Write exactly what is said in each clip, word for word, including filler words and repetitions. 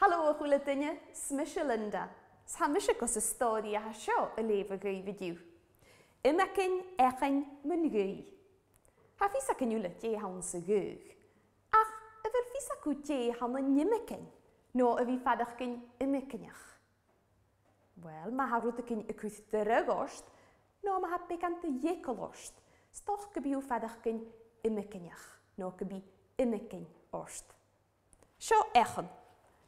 Helo a chuile duine, 's mise Linda. 'S tha mise gus a stóraí atha seo a léamh agaibh inniu. Imeacainn eachainn mun ghaoth. Tha fios againn uile dé ann sa ghaoth. Ach a bhfuil fios acu dé ann an imeacainn, nó a bhí fadachcainn imeacainneach. Well, má tha rud againn a cuid deireadh nó má tha beagán de dhéacal ort, stoch go bíú fadachcainn imeacainneach, nó go bí imeacainn ort. Seo eachan.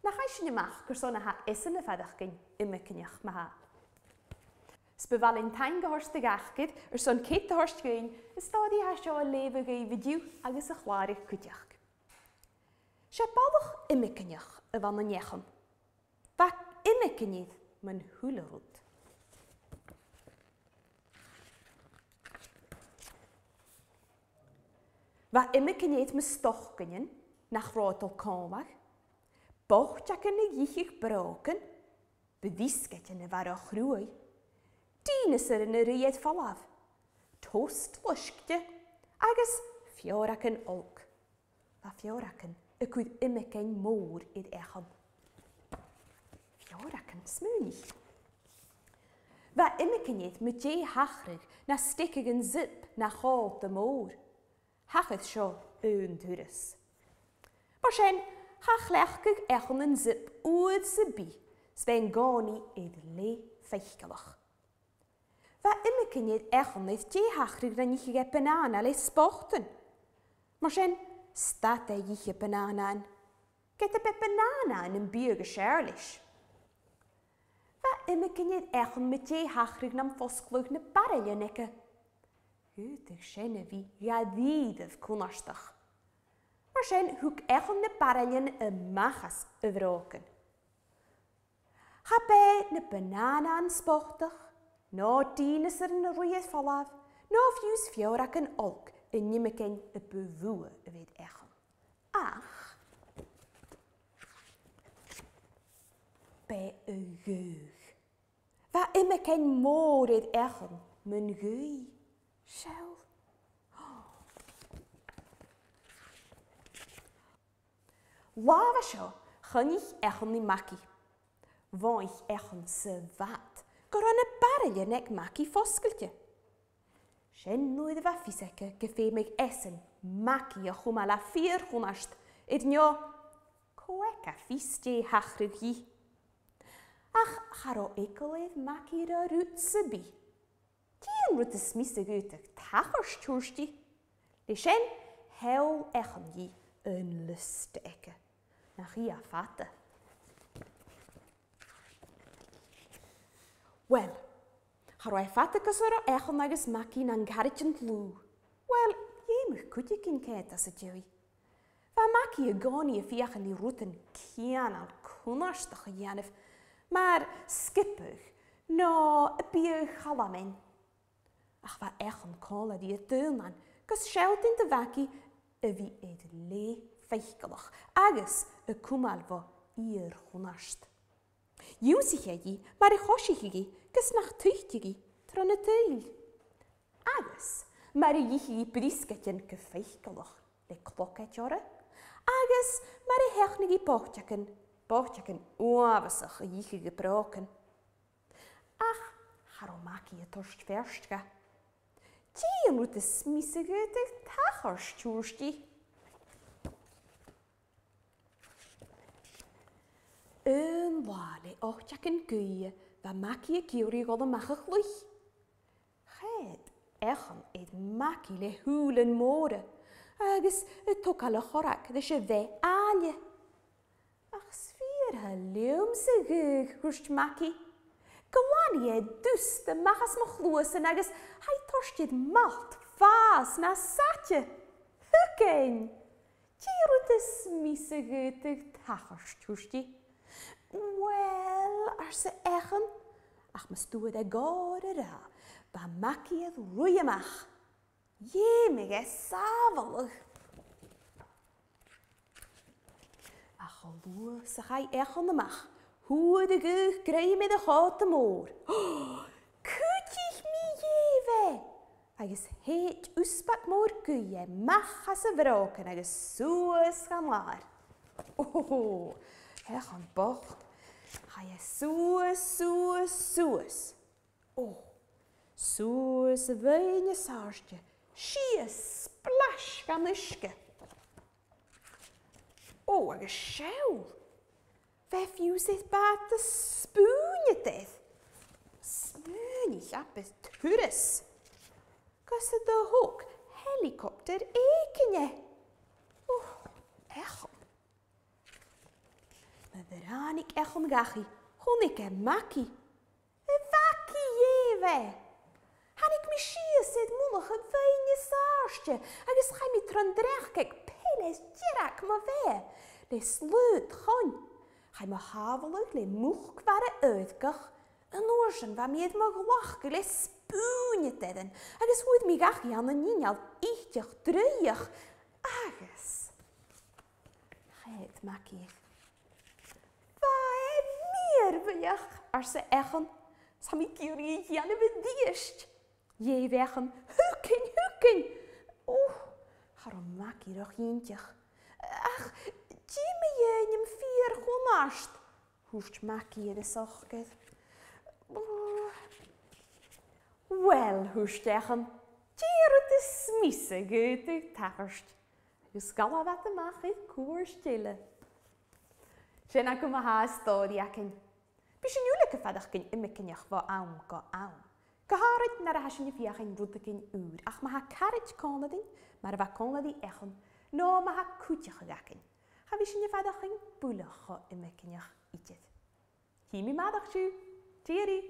Nach chaith sin amach gur son atha is na fadachcainn imeacainneach má. Sbehallin taingehorst gachgid ar son céithhorst gin is stádaí ha seo a léamh agaibh inniu agus a chláir cuideach. Sé ballach imeacainneach a bhain an eachan. Bha imeacainníad man húla rud. Bha imeacainníad ma stoch ginin nach rátal cámach, bocht acan na dhíchich brócan, bedíscait na bhar a chruaí, dínas ar na riad falámh, toast loiscte agus fioracan olc. Bha fioracan a cuid imeacainn mór id eachan. Fioracan smúnich. Bha imeacainníad ma dé hachraig na sticig an zip na cháta mór. Hachad seo aon turas. Mar sin, cha chleachcaidh eachan an zip uad sa bí, 's bheith an gánaí id lé feicealach. Bha imeacainníad eachan id dé hachraig na níche ge banana le spochtan. Mar sin, stat é dhíche banana. Get a bit banana an bíog a séarlis. Bha imeacainníad eachan ma dé hachraig nam fosclúg na barraile nice. Hútach sin a bhí dhíadamh cúnarstach. Mar sin, thug eachan na barrailin amachas a bhrócan. Cha bé na banana an spochtach, ná dínas ar na riad falámh, ná fiús fiorac an olc i nimeacainn a bhúa a bhéad eachan. Ach, bé a ghaoth. Bha imeacainn mór id eachan mun ghaoth. Seil. Lámha seo choinnich eachan na macaí. Bhaich eachan sa bhat go raibh na barraile ag macaí foscailte. Sin nuair a bheith fios aici go féimidh eisean macaí a chuma le fíorchúnast id neo comhaic a fios dé hachraig dhi. Ach cha raibh éagal macaí ra rút sa bí. Dí an rud is míos agútach tachar tuairstí. Le sin, heol eachan dhi an lust aici. Nach í a fata. Well, cha raibh fata cos ar eachan agus macaí an gcarrit an tlú. Well, dhéimh cuideacin céad as a deiridh. Bha macaí a gánaí a fiachan i rútan cianal cúnarstach a dhéanamh, mar skipadh ná a bíodh chalamin. Ach bha eachan cála dí a dúnan, gus seiltín de bhacaí a bhí id lé feicealach agus a cumáil bha iar-chúnarst. Dúsaigh mar a choisíchigí gus nach tuichtigí tro na tuil. Agus mar a dhíchigí briscaitin go feicealach le clocait orra, agus mar a theachnaigí bochtacan, bochtacan uabhasach a dhíchigí brócan. Ach cha raibh macaí a tuairt feirstge. Dí an rud is míos agad ag tachar tuairstí. An lá le ochtacan gaoithe bha macaí a gceoraí dhul amach a chluich. Chéad eachan id macaí le húlan móra agus a tógáil a chorrac leis a bheith áille. Ach sfíortha liom sa ghaoth thuairt macaí. Glannaí é dús de machas mo chluasan agus haid tuairt malt fás na saite. Thucain! Dí rud is míos agad ag tachar tuairstí. Well, arsa eachan, ach mas dúad ag gáir a rá, ba macaí ad ruí amach. Dhéimh é sábháladh. Ach ó luath sa chaith eachan amach, Huad a gcuch greim a cháta mór. Cútich mí dhéimh é! Agus héit úspac mór gaoithe mach as a bhrócan agus suas gan lár. Ó, Eachan bocht. Chaidh é suas, suas, suas. Ó, suas a bheinn is airde, síos, splash gan uisce. Ó, agus seol. Bheith fiús ith bat a spúine dith. Smúine cheapeth turas. Gus a do thóg helicopter éicine. Ó, eachan. Ma bhránic eachan gachi, chonaic é maci. E bhaci dhéimh é. Tháinig mé síos iad mullach a bheinn is airde agus chaith mé trondreach ag peil deireadh mo bheith le slúd chun. Chaith mo shábháladh le múchmhara uaidhgach an uair sin bheith mé iad mo ghlacadh le spúine déan agus chuaigh mé gach an an níneal íteach draíoch agus chéad mac iad. Bha é mírbheach, arsa Eachan, Tá mé cúraí a dhéanamh i díist. Dhéimh Eachan, thucain, thucain. Ó, cha raibh mac iarrach iontach. Ach, dí mé dhéanaim fíor chomhnáist. Thuairt mac iar is ochgad. Well, thuairt Eachan, d'iarraidh is míosa go tachairt. Agus scalla bheith amach ag cuairt eile. Sin acu mo thá stóirí acainn. Bhí sin uile go feadach gin imicinneach bha am go am. Go háirid nuair a tha sin fiachain rud éigin úr, ach má tha carraid cónadainn, mar a bheadh cónadaí eachan, nó má tha cúiteach againn. Cha bhí sin feadach gin bualadh cho imicinneach iad. Chí mí madach siú, Tírí!